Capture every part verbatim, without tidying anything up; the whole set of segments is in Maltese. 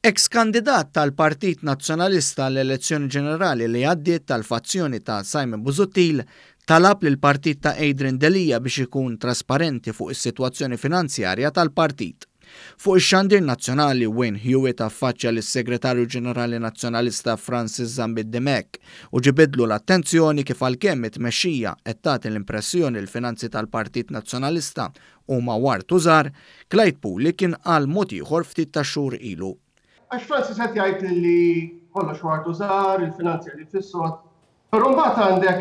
Ex-kandidat tal-Partit Nazzjonalista l-elezzjoni ġenerali li għaddiet tal-fazzjoni ta' Simon Busuttil talab lil partit ta' Adrian Delia biex ikun trasparenti fuq is-sitwazzjoni finanzjarja tal-partit. Fuq ix-xandir nazzjonali, Wayne Hewitt affaċċja lis-Segretarju Ġenerali Nazzjonalista Francis Zammit Dimech u ġibidlu l-attenzjoni kif għalkemm it-tmexxija qed tagħti l-impressjoni l-finanzi tal-Partit Nazzjonalista huma wart u żgħar, Clyde Puli kien qal mod ieħor ftit tax-xhur ilu. Għax Francis qed jgħid li kollox wart u żgħar, il-finanzi li fis-sod, però mbagħad għandek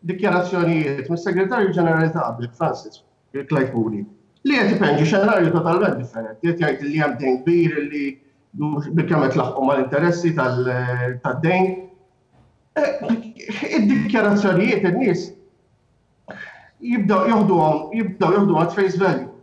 dikjarazzjonijiet mis-Segretarju Ġenerali ta' qabel, Francis Clyde Puli, li qed ipenġi xenarju totalment differenti, qed jgħid li hemm dejn kbir li bilkemm qed laħqu mal-interessi tad-dejn. Id-dikjarazzjonijiet in-nies jibdew joħduhom jibdew joħduhom at face value.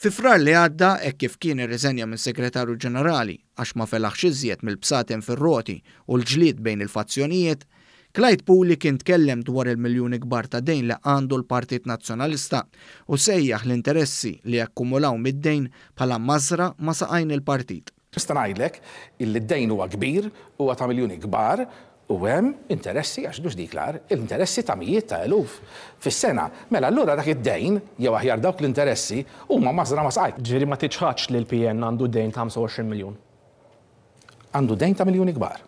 Fi Frar li għadda, hekk kif kien irriżenja minn Segretarju Ġenerali għax ma felaħx iżjed mill-bsaten fir-roti u l-ġlied bejn il-fazzjonijiet, Clyde Puli kien tkellem dwar il-miljuni kbar ta' dejn li għandu l-Partit Nazzjonalista u sejjaħ l-interessi li akkumulaw mid-dejn bħala mażra ma' saqajn il-partit. Nista' ngħidlek illi d-dejn huwa kbir, huwa ta' miljuni kbar, u hemm interessi, għax mhux dik l-agħar, interessi ta' mijiet ta' eluf fis-sena. Mela allura dak id-dejn, jew aħjar dawk l-interessi, huma mażra ma' saqajk. Ġifieri ma tiċħadx li l-P N għandu dejn ta' ħamsa u għoxrin miljun? Għandu dejn ta' miljuni kbar.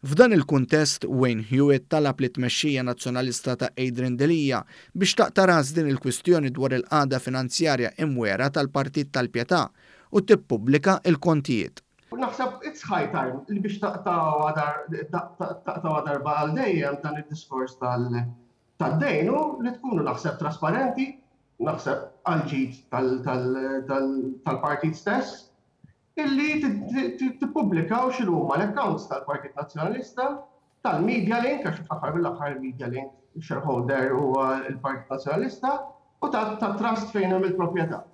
F'dan il-kuntest, Wayne Hewitt talab li tmexxija nazzjonalista ta' Adrian Delia biex taqta' ras din il-kwistjoni dwar il-qagħda finanzjarja imwera tal-Partit tal-Pietà u tippubblika il-kontijiet. Naħseb it's high time li biex taqtgħu darba għal dejjem dan id-diskors tad-dejn u li tkunu naħseb trasparenti, naħseb għal ġid tal-partit stess, illi tippubblikaw x'inhuma l-accounts tal-Partit Nazzjonalista, tal-Media Link, għax fl-aħħar mill-aħħar il-Media Link shareholder huwa l-Partit Nazzjonalista, u tat-trust fejn hemm il-proprjetà.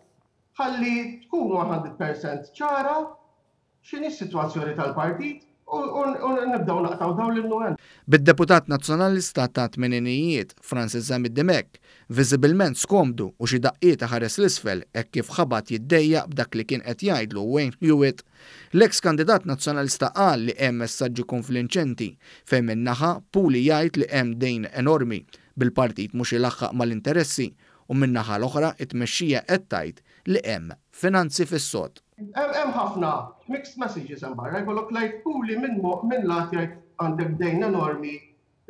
Ħalli tkun one hundred percent ċara x'inhi s-sitwazzjoni tal-partit u nibdew naqtaw dawn l-innuend. Bid-deputat nazzjonalista ta' tmeninijiet Francis Zammit Dimech viżibilment skomdu u xi daqqiet ħares l-isfel hekk kif ħabat jiddejjaq b'dak li kien qed jgħidlu Wayne Hewitt, l-eks kandidat nazzjonalista qal li hemm messaġġi konflinċenti fejn min-naħa Puli jgħid li hemm dejn enormi bil-partit mhux ilaħħaq mal-interessi u min-naħa l-oħra it-tmexxija qed tgħid li hemm finanzi fis-sod. Hemm ħafna mixed messages hemm barra, jkollok Clyde Puli minn mo-, minn lat jgħid għandek dejn enormi,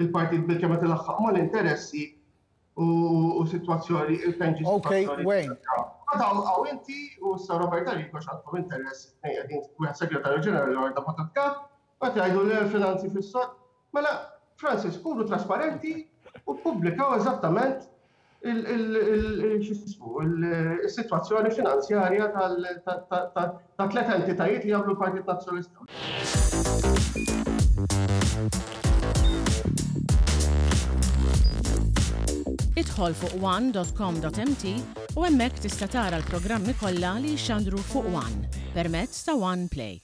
il-partit bilkemm qed ilaħħaq mal-interessi u, u sitwazzjoni, il-penġi Okay, sitwazzjoni. Wayne. Għadaw għaw inti u sa Robert Arrigo x'għandkom interess, tnejn qegħdin wieħed segretarju ġenerali u deputat kap, qed jgħidu li l-finanzi fis-sod. Mela, Francis, kunu trasparenti u ppubblikaw eżattament il-sitwazzjoni finanzjarja ta' tliet entitajiet li jagħmlu l-Partit Nazzjonalista. Idħol fuq one dot com dot M T u hemmhekk tista' tara l-programmi kollha li jxandru fuq One permezz ta' One Play.